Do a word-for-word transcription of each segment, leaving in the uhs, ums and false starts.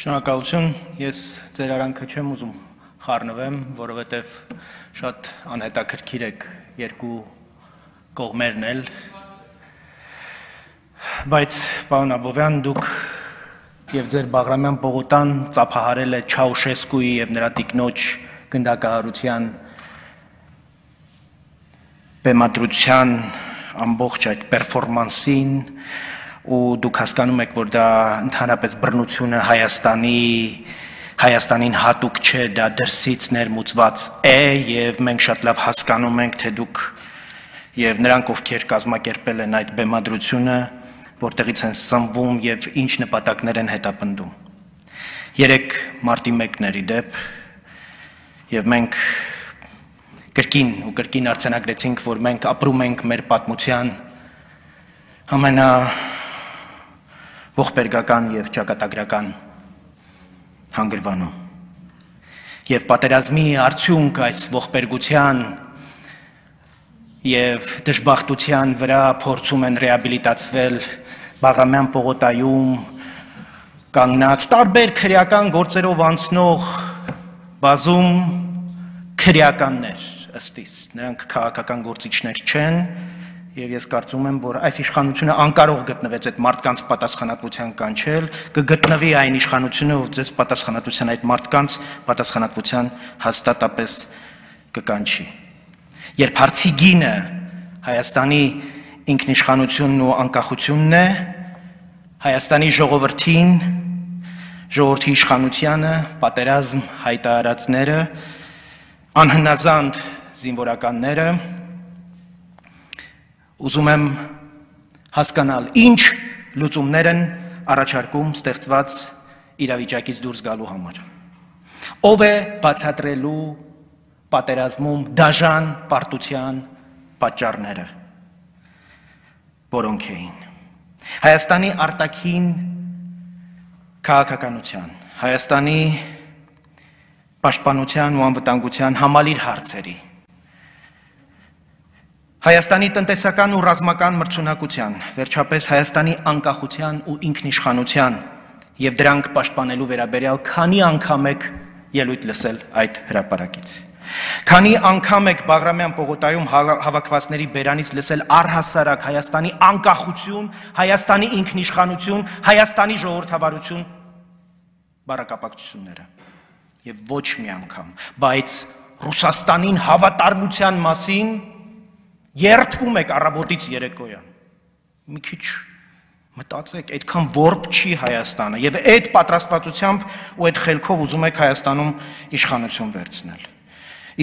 Շնորհակալություն, ես ձեր արանքը չեմ ուզում խառնվեմ, որովհետև շատ անհետաքրքիր եք երկու կողմերն էլ, բայց պարոն Աբովյան, դուք եւ ձեր Բաղրամյան պողոտան ծափահարել է Չաուշեսկուի եւ նրա տիկնոջ գնդակահարության բեմադրության ամբողջ այդ պերֆորմանսին ու դուք հասկանում եք, որ դա ընդհանրապես բռնությունը Հայաստանի Հայաստանին հատուկ չէ, դա դրսից ներմուծված է եւ մենք շատ լավ հասկանում ենք, թե դուք եւ նրանք, ովքեր կազմակերպել են այդ բեմադրությունը, որտեղից են սնվում եւ ինչ նպատակներ են հետապնդում։ Երեք մարտի մեկն էր ի դեպ եւ մենք կրկին ու կրկին արձանագրեցինք, որ մենք ապրում ենք մեր պատմության ամենա ողբերգական եւ ճակատագրական հանգրվանում։ Եվ պատերազմի արդյունք այս ողբերգության եւ դժբախտության վրա փորձում են ռեաբիլիտացվել Բաղրամյան պողոտայում կանգնած տարբեր քրեական գործերով անցնող բազում քրեականներ ըստիս, նրանք քաղաքական գործիչներ չեն եւ ես կարծում եմ, որ այս իշխանությունը անկարող գտնվեց այդ մարդկանց պատասխանատվության կանչել, կգտնվի այն իշխանությունը, ով ձեզ պատասխանատվության այդ մարդկանց պատասխանատվության հաստատապես կկանչի։ Երբ հարցի գինը Հայաստանի ինքնիշխանությունն ու անկախությունն է, Հայաստանի ժողովրդին, ժողովրդի իշխանությանը, պատերազմ հայտարարածները, անհնազանդ զինվորականները, ուզում եմ հասկանալ, ինչ լուծումներ են առաջարկում ստեղծված իրավիճակից դուրս գալու համար։ Ով է բացատրելու պատերազմում դաժան պարտության պատճառները, որոնք էին։ Հայաստանի արտաքին քաղաքականության, Հայաստանի պաշտպանության ու անվտանգության համալիր հարցերի, Հայաստանի տնտեսական ու ռազմական մրցունակության, վերջապես Հայաստանի անկախության ու ինքնիշխանության եւ դրանք պաշտպանելու վերաբերյալ քանի անգամ եք ելույթ լսել այդ հրապարակից։ Քանի անգամ եք Բաղրամյան պողոտայում հավաքվածների բերանից լսել առհասարակ Հայաստանի անկախություն, Հայաստանի ինքնիշխանություն, Հայաստանի ժողովրդավարություն բառակապակցությունները եւ ոչ մի անգամ, բայց Ռուսաստանին հավատարմության մասին երդվում եք առավոտից երեկոյան։ Մի քիչ մտածեք, այդքան որբ չի Հայաստանը եւ այդ պատրաստվածությամբ ու այդ խելքով ուզում եք Հայաստանում իշխանություն վերցնել։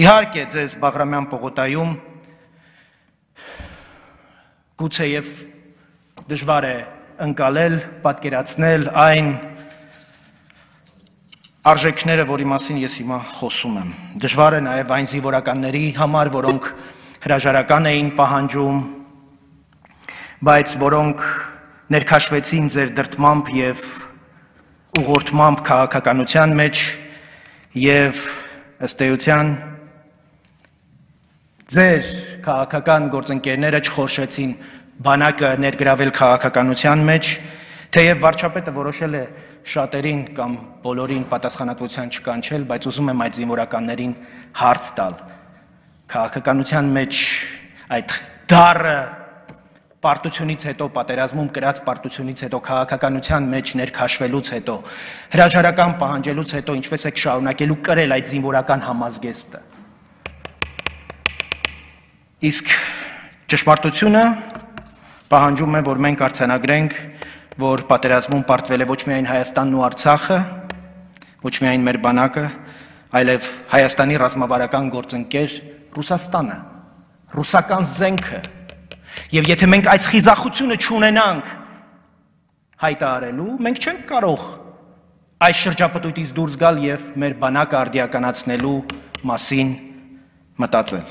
Իհարկե, ձեզ Բաղրամյան պողոտայում գուցեև դժվար է ընկալել, պատկերացնել այն արժեքները, որի մասին ես հիմա խոսում եմ։ Դժվար է նաեւ այն զինվորականների համար, որոնք հրաժարական էին պահանջում, բայց որոնք ներքաշվեցին ձեր դրդմամբ եւ ուղղորդմամբ քաղաքականության մեջ եւ ըստ էության ձեր քաղաքական գործընկերները չխորշեցին բանակը ներգրավել քաղաքականության մեջ, թեև վարչապետը որոշել է շատերին կամ բոլորին պատասխանատվության չկանչել, բայց ուզում եմ այդ զինվորականներին հարց տալ։ Քաղաքականության մեջ այդ դառը պարտությունից հետո, պատերազմում կրած պարտությունից հետո, քաղաքականության մեջ ներքաշվելուց հետո, հրաժարական պահանջելուց հետո, ինչպես եք շարունակելու կրել այդ զինվորական համազգեստը։ Իսկ ճշմարտությունը պահանջում է, որ մենք արձանագրենք, որ պատերազմում պարտվել է ոչ միայն Հայաստանն ու Արցախը, ոչ միայն մեր բանակը, այլև Հայաստանի ռազմավարական գործընկեր Ռուսաստանը, ռուսական զենքը, եւ եթե մենք այս խիզախությունը չունենանք հայտարարելու, մենք չենք կարող այս շրջապտույտից դուրս գալ եւ մեր բանակը արդիականացնելու մասին մտածել։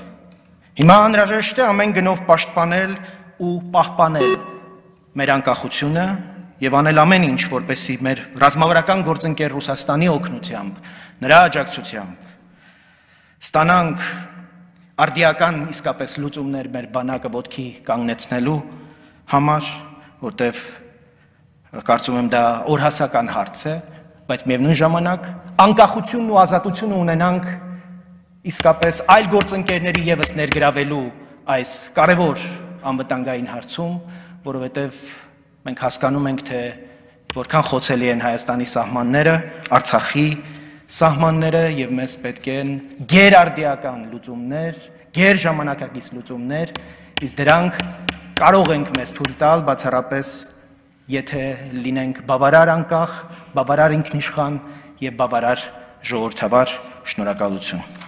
Հիմա անհրաժեշտ է ամեն գնով պաշտպանել ու պահպանել մեր անկախությունը եւ անել ամեն ինչ, որպեսզի մեր ռազմավարական գործընկեր Ռուսաստանի օգնությամբ, նրա աջակցությամբ ստանանք արդիական իսկապես լուծումներ մեր բանակը ոտքի կանգնեցնելու համար, որտեվ կարծում եմ դա օրհասական հարց է, բայց միևնույն ժամանակ անկախությունն ու ազատությունը ունենանք իսկապես այլ գործընկերների ևս ներգրավելու այս կարևոր անվտանգային հարցում, որովհետև մենք հասկանում ենք, թե որքան խոցելի են Հայաստանի սահմանները, Արցախի սահմանները եւ մեզ պետք են գերարդիական լուծումներ, գերժամանակակից լուծումներ, իսկ դրանք կարող ենք մեզ թույլ տալ բացառապես, եթե լինենք բավարար անկախ, բավարար ինքնիշխան եւ բավարար ժողովրդավար։ Շնորհակալություն։